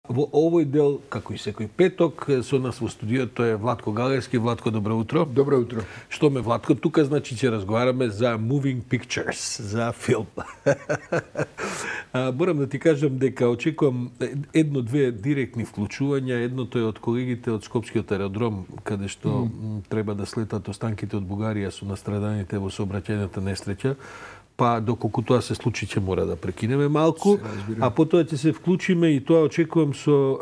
Во овој дел, како и секој петок, со нас во студиото е Владко Галевски. Владко, добро утро. Добро утро. Што ме, Владко? Тука, значи, ќе разговараме за Moving Pictures, за филм. Морам да ти кажам дека очекувам едно-две директни вклучувања. Едното е од колегите од Скопскиот аеродром, каде што треба да слетат останките од Бугарија со настраданите во сообраќајната несреќа. Па доколку тоа се случи ќе мора да прекинеме малку, а потоа ќе се вклучиме и тоа очекувам со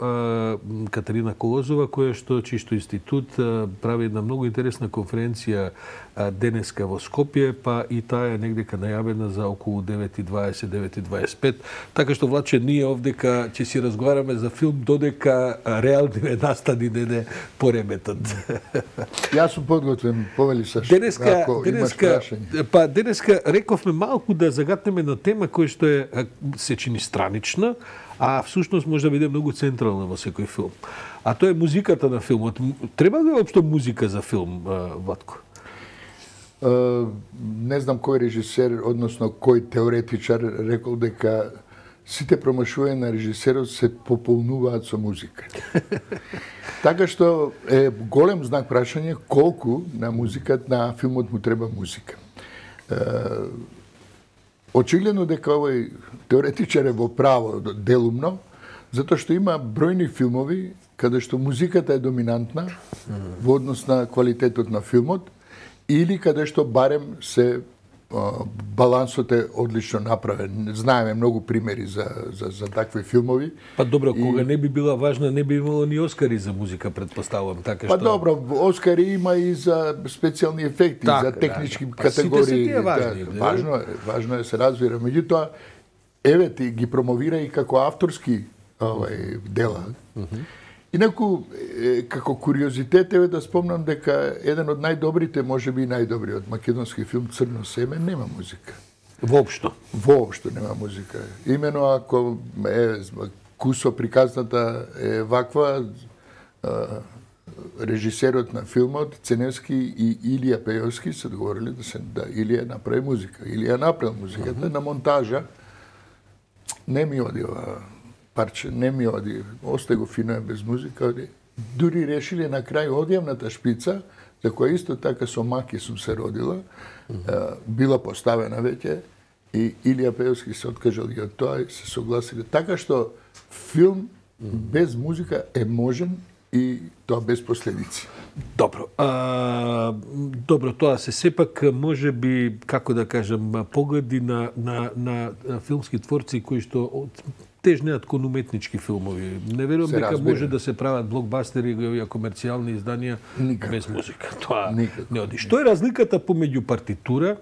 Катерина Колозова, која што чисто институт прави една многу интересна конференција денеска во Скопје, па и таа е негдека најавена за околу 9:20, 9:25. Така што, Владче, ние овдека ќе си разговараме за филм додека реални настани не пореметат. Јас сум подготвен, повели Сашо, ако имаш прашање. Па денеска рековме малку да загатнеме на тема која што се чини странична, а всушност може да биде многу централна во секој филм. А тоа е музиката на филмот. Треба ли општо музика за филм, Владко? Не знам кој режисер, односно кој теоретичар рекол дека сите промашувања на режисерот се пополнуваат со музика. Така што е голем знак прашање колку на музиката на филмот му треба музика. Очигледно дека овој теоретичар е во право делумно, затоа што има бројни филмови каде што музиката е доминантна во однос на квалитетот на филмот, или каде што барем се балансот е одлично направен. Знаеме многу примери за такви филмови. Па добро, кога не би била важна, не би имало ни Оскари за музика, претпоставувам, така што. Па добро, Оскари има и за специјални ефекти, за технички категории. Сите се тие важни. Важно е се разбира. Меѓутоа, еве ти ги промовира и како авторски дела. Инаку, како куриозитет, еве да спомнам дека еден од најдобрите, можеби и најдобриот македонски филм Црно семе нема музика. Воопшто? Воопшто нема музика. Имено ако кусо приказната е ваква, режисерот на филмот Ценевски и Илија Пејовски се договорили да Илија направи музика. Илија направил музиката на монтажа. Не ми оди ова парче, не ми оди, остај го фино без музика, оди. Дури решили на крај одјавната шпица, за која исто така со Маки сум се родила, била поставена веќе, и Илија Пејовски се откажал и од тоа и се согласили. Така што филм без музика е можен и тоа без последици. Добро. Добро, тоа се сепак може би, како да кажам, погледи на филмски творци кои што тежнеат кон уметнички филмови. Не верувам дека може да се прават блокбастери и комерцијални изданија без музика. Тоа не оди. Што е разликата помеѓу партитура,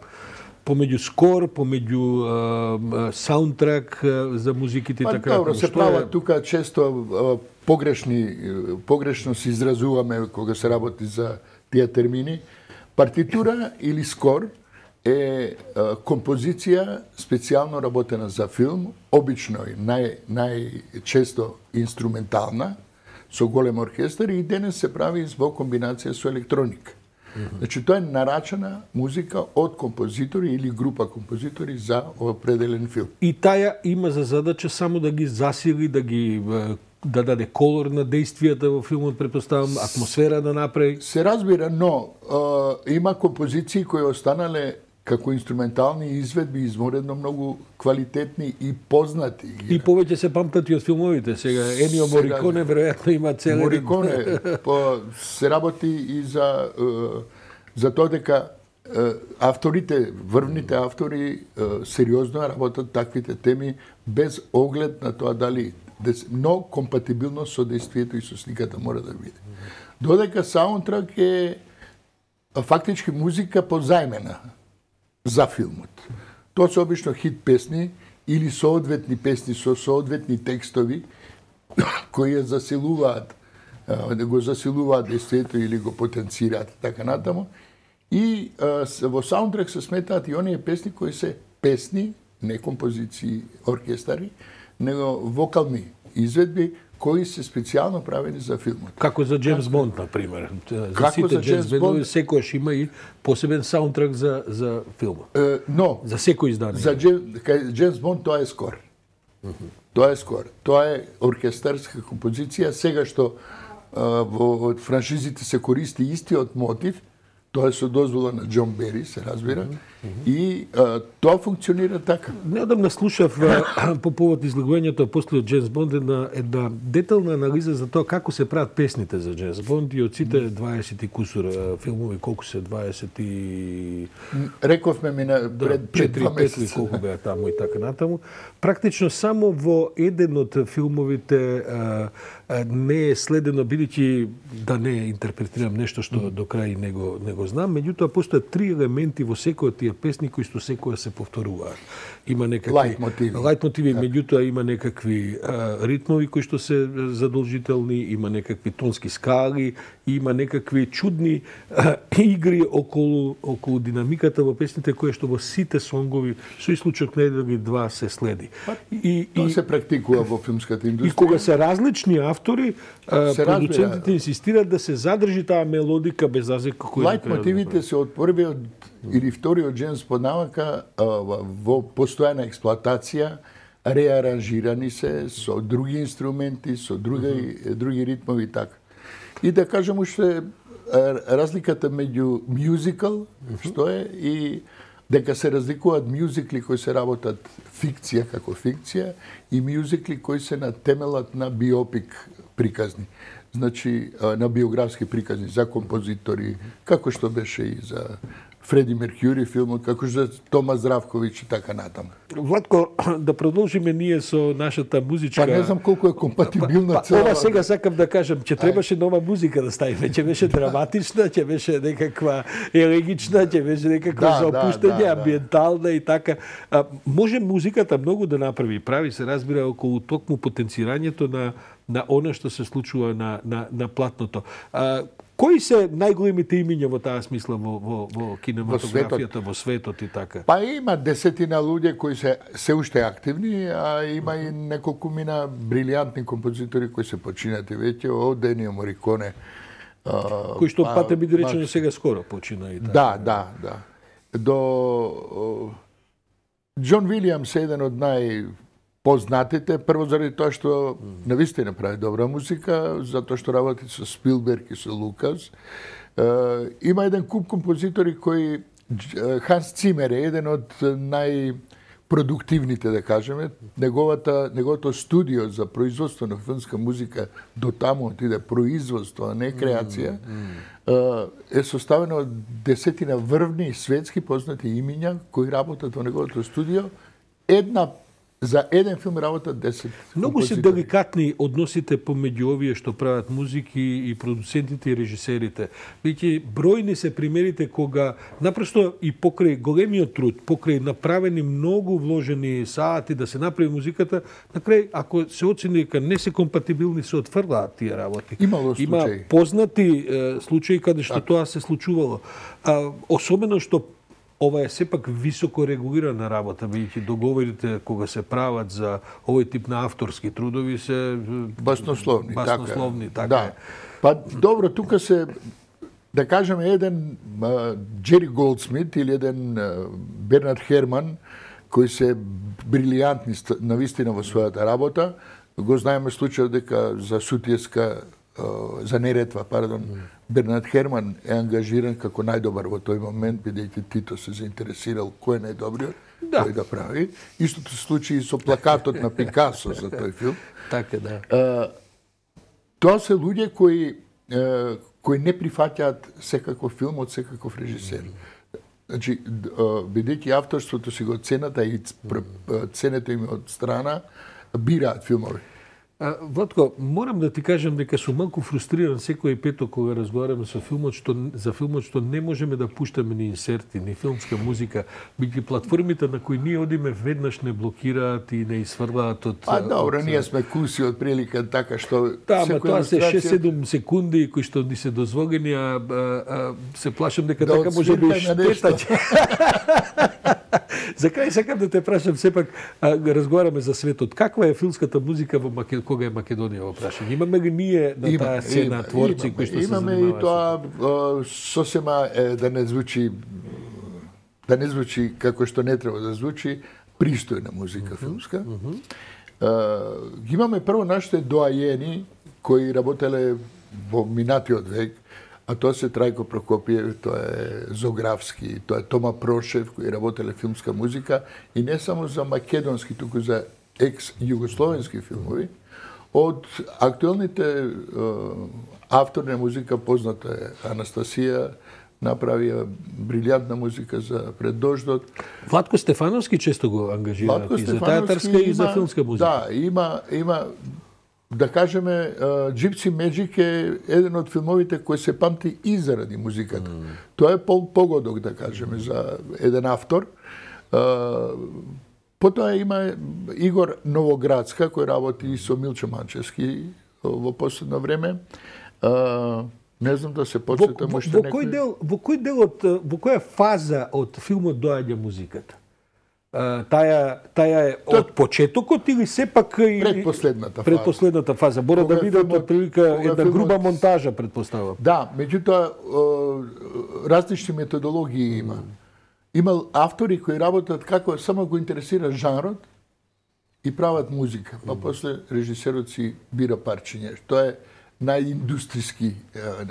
помеѓу скор, помеѓу саундтрак за музиките и така? Добро, се прават тука често погрешно се изразуваме кога се работи за тие термини. Партитура или скор е композиција специјално работена за филм, обично и најчесто инструментална, со голем оркестар, и денес се прави во комбинација со електроника. Значи, тоа е нарачена музика од композитори или група композитори за определен филм. И таа има за задача само да ги засили, да даде колор на действијата во филмот, претпоставам, атмосфера да направи. Се разбира, но има композиции кои останале како инструментални изведби изморедно многу квалитетни и познати. И повеќе се памтат и од филмовите. Сега Енио Мориконе веројатно има цел Мориконе се работи и за тоа дека авторите, врвните автори сериозно работат таквите теми без оглед на тоа дали, но компатибилно со действието и со сликата мора да биде. Додека саундтрак е фактички музика позајмена за филмот. Тоа се обично хит песни или соодветни песни со соодветни текстови кои го засилуваат действието или го потенцираат така натаму. И во саундтрак се сметаат и оние песни кои се песни, не композиции, оркестари, него вокални изведби кои се специјално правени за филмот. Како за Джеймс Бонд, например. За сите Джеймс Бондови секојаш има и посебен саундтрак за филмот. Но за секој издание. За Джеймс Бонд тоа е скор. Тоа е скор. Тоа е оркестарска композиција. Сега што во франшизите се користи истиот мотив, тоа е со дозвола на Џон Бери, се разбира, и тоа функционира така. Неодамна слушав по повод излагувањето после од Джеймс Бонд една детална анализа за тоа како се прават песните за Джеймс Бонд и од сите 20 и кусур филмови, колку се 20 и... Рековме ми на пред 4 месеци колку беа таму и така натаму. Практично само во еден од филмовите не е следено, бидејќи да не интерпретирам нешто што до крај не го знам, меѓутоа постојат 3 елементи во секој од тие песни кои што секоја се повторуваат. Има некакви лајтмотиви, меѓутоа има некакви ритмови кои што се задолжителни, има некакви тонски скали, има некакви чудни игри околу динамиката во песните кои што во сите сонгови со исклучок на еден или два се следи. Тоа се практикува во филмската индустрија. И кога се различни автори, продуцентите инсистираат да се задржи таа мелодика без разлика кој лајтмотивите се од првиот или вториот Джеймс Бонд навака во постојана експлоатација, реаранжирани се со други инструменти, со други ритмови и така. И да кажем уште разликата меѓу мюзикал, што е, и дека се разликуваат мюзикли кои се работат фикција како фикција и мюзикли кои се на темелот на биопик приказни. Значи, на биографски приказни за композитори, како што беше и за Фреди Меркјури филмот, како што за Тома Здравковиќ и така натаму. Владко, да продолжиме ние со нашата музичка... Па не знам колку е компатибилна цела. Ова сега сакам да кажам, че требаше нова музика да ставиме, че беше драматична, че беше некаква елегична, че беше некаква за опуштање, амбиентална и така. Може музиката многу да направи, прави се разбира околу токму потенцирањето на она што се случува на платното. Кои се најголемите имиња во таа смисла во кинематографијата, во светот и така? Па има десетина луѓе кои се уште активни, а има и неколку мина брилијантни композитори кои се починати веќе, од Енио Мориконе. Кои што пате биде речено сега скоро почина и така. Да. До Џон Вилијамс е еден од познатите, прво заради тоа што навистина прави добра музика, затоа што работи со Спилберг и со Лукас. Има еден куп композитори кои Ханс Цимер е еден од најпродуктивните, да кажеме. Неговото студио за производство на филмска музика до таму отиде производство, а не креација, е составено од десетина врвни светски познати имиња кои работат во неговото студио. За еден филм работат 10 Многу се деликатни односите помеѓу овие што прават музики и продуцентите и режисерите. Веќе бројни се примерите кога напросто и покрај големиот труд, покрај направени многу вложени сати да се направи музиката, на крај ако се оцени дека не се компатибилни, се отфрлаат тие работи. Има познати случаи каде што тоа се случувало. Особено што ова е сепак високо регулирана работа, бидејќи договорите кога се прават за овој тип на авторски трудови се баснословни, така. Да. Па добро, тука се да кажеме еден Джери Голдсмит или еден Бернард Херман кои се брилијантни навистина во својата работа. Го знаеме случајот дека за Сутиевска за Неретва, Бернард Херман е ангажиран како најдобар во тој момент, бидејќи Тито се заинтересирал кој е најдобриот, кој да прави. Истото се случи и со плакатот на Пикасо за тој филм. Така, да. Тоа се луѓе кои не прифаќаат секаков филм од секаков режисер. Значи, бидејќи авторството си го цената и ценето им од страна, бираат филмови. Владко, морам да ти кажам дека сум малку фрустриран секој петок кога разговараме за филмот што не можеме да пуштаме ни инсерти, ни филмска музика, бидејќи платформите на кои ние одиме веднаш не блокираат и не изфрлаат од... Добро, ние сме куси од прилика така што... Да, ама тоа се 6-7 секунди кои што ни се дозволени, се плашам дека така може да иштетат. За крај сакам да те прашам, сепак разговараме за светот. Каква е филмската музика кога е Македонија во прашање? Имаме ли ние на таа сцена творци кои што се занимаваат? Имаме и тоа сосема да не звучи како што не треба да звучи, пристојна музика филмска. ги имаме прво нашите доајени кои работеле во минатиот век, а тоа се Трајко Прокопиев, тоа е Зографски, тоа е Тома Прошев, кои работеле филмска музика, и не само за македонски, туку за екс-југословенски филмови. Од актуелните автори на музика, позната е Анастасија, направија брилјантна музика за Пред дождот. Владко Стефановски често го ангажира и за театарска и за филмска музика. Да, има да кажеме, Gypsy Magic е еден од филмовите кои се памти и заради музиката. Тоа е погодок, да кажеме, за еден автор. Потоа има Игор Новоградска, кој работи со Милчо Манчевски во последно време. Не знам да се подсетам уште некој. Во која фаза од филмот доаѓа музиката? Таа е од почетокот или сепак и предпоследната фаза? Мора да биде од прилика една груба монтажа, предпоставам. Да, меѓутоа различни методологии има. Има автори кои работат како само го интересира жанрот и прават музика, па после режисерот си бира парчиња. Тоа е најиндустријски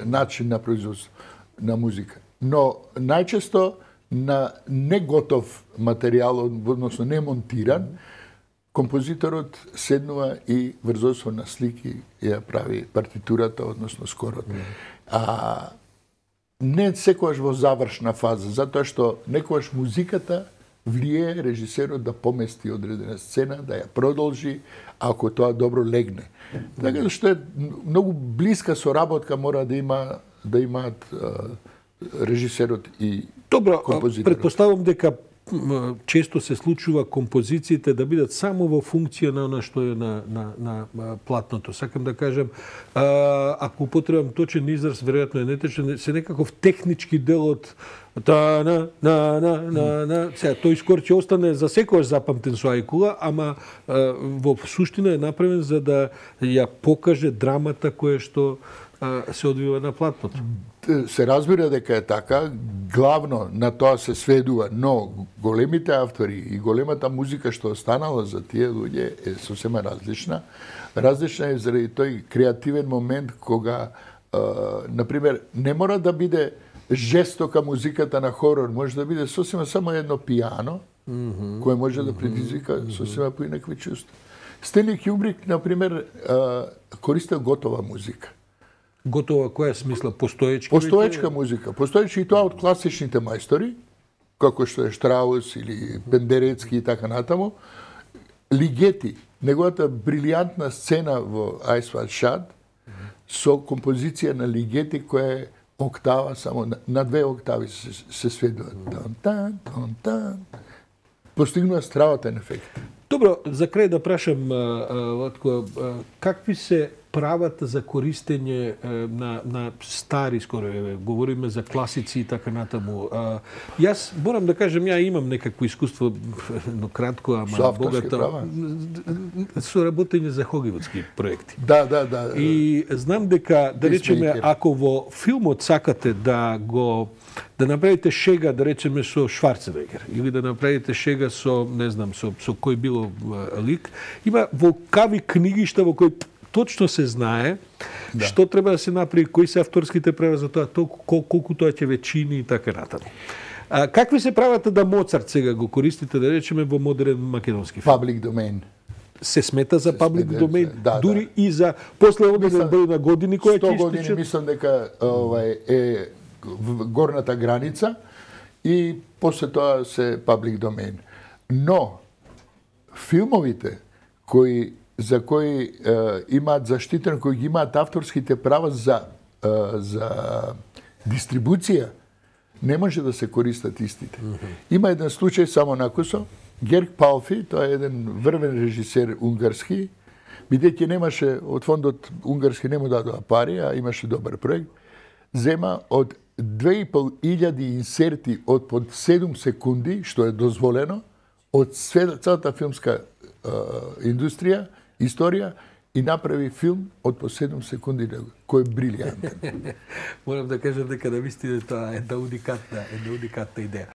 начин на производство на музика. Но најчесто на неготов материјал, односно не монтиран, композиторот седнува и врзосо на слики ја прави партитурата, односно скорот. Не секогаш во завршна фаза, затоа што некогаш музиката влие режисерот да помести одредена сцена, да ја продолжи, ако тоа добро легне. Така што е многу блиска соработка мора да имаат режисерот и композиторот. Добро, предпоставам дека често се случува композициите да бидат само во функција на она што е на платното. Сакам да кажем, ако употребам точен израз, веројатно е неточен, се некаков технички дел од сега тој скоро ќе остане за секојаш запамтен со ајкула, ама во суштина е направен за да ја покаже драмата која што се одвива на платното. Се разбира дека е така, главно на тоа се сведува, но големите автори и големата музика што останала за тие луѓе е сосема различна. Различна е заради тој креативен момент кога, например, не мора да биде жестока музиката на хорор, може да биде сосема само едно пијано, кое може да предизвика сосема поинакви чувства. Стенли Кјубрик, например, користел готова музика. Готова која смисла? Постоечки? Постоечка музика. Постоечки и тоа од класичните мајстори, како што е Штраус или Пендерецки и така натаму. Лигети, неговата брилијантна сцена во Eyes Wide Shut, со композиција на Лигети која е октава, само на 2 октави се сведува. Постигнува страватен ефект. Добро, за крај да прашам, Владко, какви се правата за користење на стари, скоро говориме за класици и така натаму. Јас морам да кажем, ја имам некакво искуство, но кратко, ама богато, со работење за холивудски проекти. Да. И знам дека, да речеме, ако во филмот сакате да направите шега, да речеме, со Шварценегер, или да направите шега со, не знам, со кој било лик, има волкави книгишта во кои точно се знае што треба да се направи, кои се авторските права за тоа, колку тоа ќе вечини и така натаму. Какви се правата да Моцарт сега го користите, да речеме, во модерен македонски филм? Public domain. Се смета за public domain, дури и за после одреден број на години која ќе 100 години мислам дека е горната граница и после тоа се public domain. Но филмовите за кои имаат заштитен, кои ги имаат авторските права за дистрибуција, не може да се користат истите. Има еден случај само накусо, Герг Палфи, тоа е еден врвен режисер унгарски, бидејќи немаше, од фондот унгарски не му дадоа пари, а имаше добар проект, зема од 2500 инсерти од под 7 секунди, што е дозволено, од целата филмска индустрија, историја, и направи филм од по 7 секунди, кој е брилијантен. Морам да кажам дека навистина тоа е една уникатна идеја.